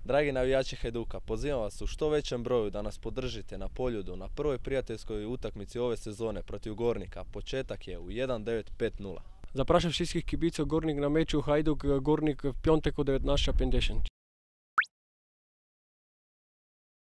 Dragi navijači Hajduka, pozivam vas u što većem broju da nas podržite na Poljudu na prvoj prijateljskoj utakmici ove sezone protiv Gornika. Početak je u 19:50. Zapraszam wszystkich kibiców Górnik na meczu Hajduk Górnik w piątek o 19:50.